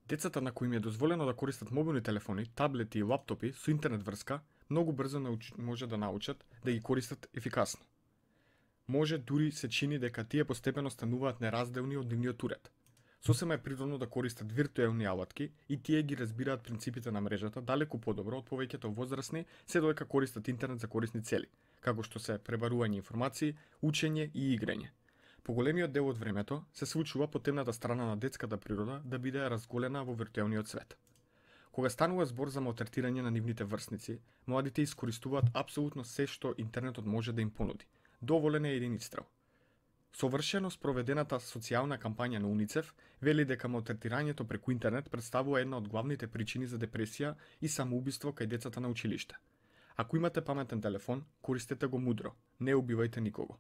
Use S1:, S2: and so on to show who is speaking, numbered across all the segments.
S1: Децата на кои им е дозволено да користат мобилни телефони, таблети и лаптопи со интернет врска, многу брзо може да научат да ги користат ефикасно. Може дури се чини дека тие постепено стануваат неразделни од нивниот уред. Сосема е природно да користат виртуелни алатки и тие ги разбираат принципите на мрежата далеку подобро од повеќето возрастни, се додека користат интернет за корисни цели, како што се пребарување информации, учење и играње. Поголемиот дел од времето се случува по темната страна на детската природа да биде разголена во виртуелниот свет. Кога станува збор за малтретирање на нивните врсници, младите искористуваат апсолутно се што интернетот може да им понуди. Доволен е един истрел. Совршено спроведената социјална кампања на УНИЦЕФ вели дека малтретирањето преку интернет представува една од главните причини за депресија и самоубиство кај децата на училиште. Ако имате паметен телефон, користете го мудро, не убивајте никого.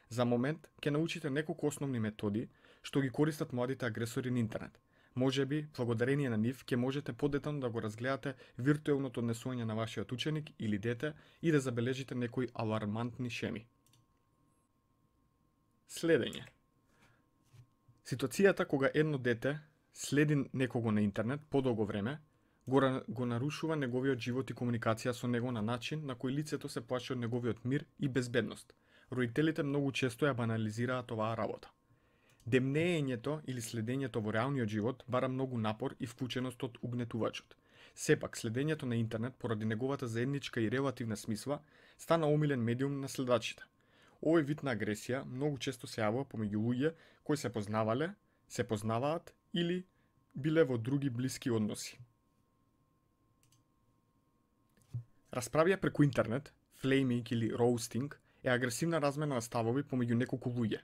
S1: За момент ќе научите неколку основни методи што ги користат младите агресори на интернет. Можеби, благодарение на нив, ќе можете подетално да го разгледате виртуелното однесување на вашиот ученик или дете и да забележите некои алармантни шеми. Следење. Ситуацијата кога едно дете следи некого на интернет подолго време, го нарушува неговиот живот и комуникација со него на начин на кој лицето се плаши од неговиот мир и безбедност. Родителите многу често ја банализираат оваа работа. Демнеењето или следењето во реалниот живот бара многу напор и вклученост од угнетувачот. Сепак, следењето на интернет поради неговата заедничка и релативна смисла стана омилен медиум на следачите. Овој вид на агресија многу често се јавува помеѓу луѓе кои се познавале, се познаваат или биле во други блиски односи. Расправија преку интернет, флейминг или роустинг, е агресивна размена на ставови помеѓу неколку луѓе,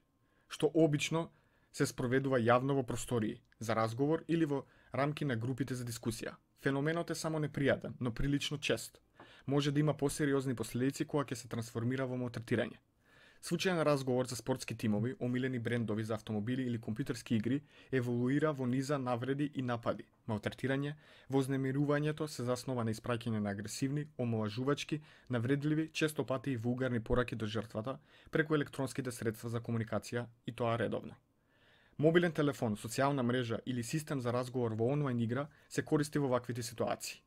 S1: што обично се спроведува јавно во простории, за разговор или во рамки на групите за дискусија. Феноменот е само непријатен, но прилично чест. Може да има посериозни последици кога ќе се трансформира во малтретирање. Случајен разговор за спортски тимови, омилени брендови за автомобили или компјутерски игри еволуира во низа навреди и напади. Малтретирање, вознемирувањето се заснова на испраќање на агресивни, омалажувачки, навредливи, често пати и вулгарни пораки до жртвата преку електронските средства за комуникација и тоа редовно. Мобилен телефон, социјална мрежа или систем за разговор во онлайн игра се користи во ваквите ситуации.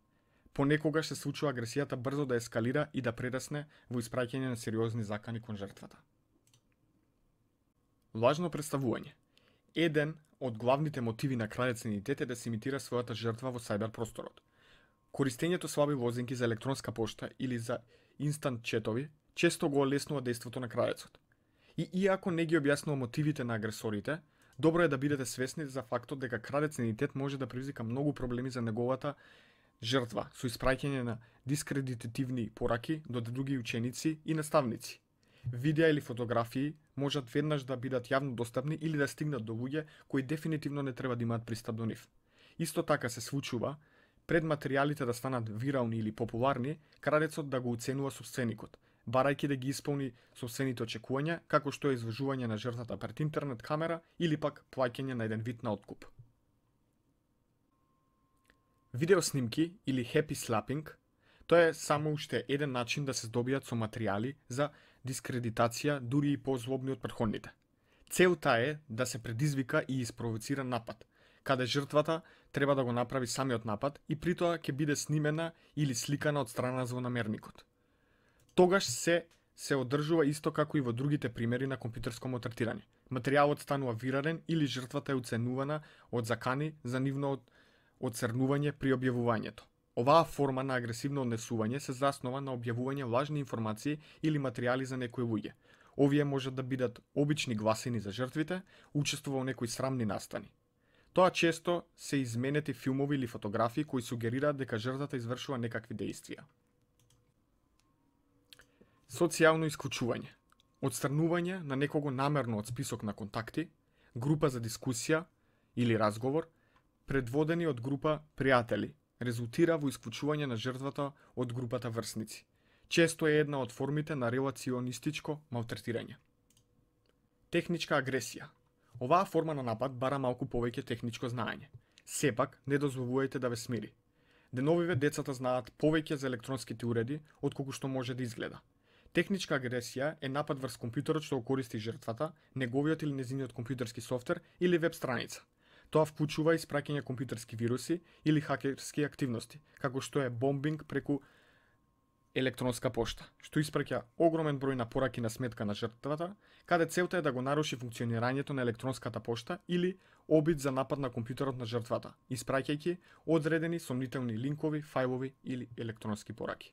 S1: Понекогаш се случува агресијата брзо да ескалира и да прерасне во испраќање на сериозни закани кон жртвата. Лажно представување. Еден од главните мотиви на крајец на идентитет е да се имитира својата жртва во сајбер просторот. Користењето слаби лозинки за електронска пошта или за инстант четови често го олеснува дејството на крајецот. И иако не ги објаснува мотивите на агресорите, добро е да бидете свесни за фактот дека крадец на идентитет може да предизвика многу проблеми за неговата жртва со испраќање на дискредитативни пораки до други ученици и наставници. Видеа или фотографии можат веднаш да бидат јавно достапни или да стигнат до луѓе кои дефинитивно не треба да имаат пристап до нив. Исто така се случува, пред материјалите да станат вирални или популарни, крадецот да го уценува собственикот, барајќи да ги исполни собствените очекувања, како што е изложување на жртвата пред интернет камера или пак плаќање на еден вид на откуп. Видеоснимки или happy slapping, тоа е само уште еден начин да се здобијат со материјали за дискредитација дури и позлобни од претходните. Целта е да се предизвика и испровоцира напад, каде жртвата треба да го направи самиот напад и притоа ќе биде снимена или сликана од страна на злонамерникот. Тогаш се одржува исто како и во другите примери на компјутерско малтретирање. Материјалот станува вирален или жртвата е уценувана од закани за нивно оцрнување при објавувањето. Оваа форма на агресивно однесување се заснова на објавување лажни информации или материјали за некои луѓе. Овие можат да бидат обични гласини за жртвите, учествува во некои срамни настани. Тоа често се изменети филмови или фотографии кои сугерираат дека жртвата извршува некакви дејствија. Социјално исклучување. Отстранување на некого намерно од список на контакти, група за дискусија или разговор, предводени од група пријатели, резултира во исклучување на жртвата од групата врсници. Често е една од формите на релационистичко малтретирање. Техничка агресија. Оваа форма на напад бара малку повеќе техничко знаење. Сепак, не дозволувајте да ве смири. Деновиве децата знаат повеќе за електронските уреди отколку што може да изгледа. Техничка агресија е напад врз компјутерот што го користи жртвата, неговиот или незиниот компјутерски софтвер или веб страница. Тоа вклучува испраќање компјутерски вируси или хакерски активности, како што е бомбинг преку електронска пошта, што испраќа огромен број на пораки на сметка на жртвата, каде целта е да го наруши функционирањето на електронската пошта или обид за напад на компјутерот на жртвата, испраќајќи одредени сомнителни линкови, фајлови или електронски пораки.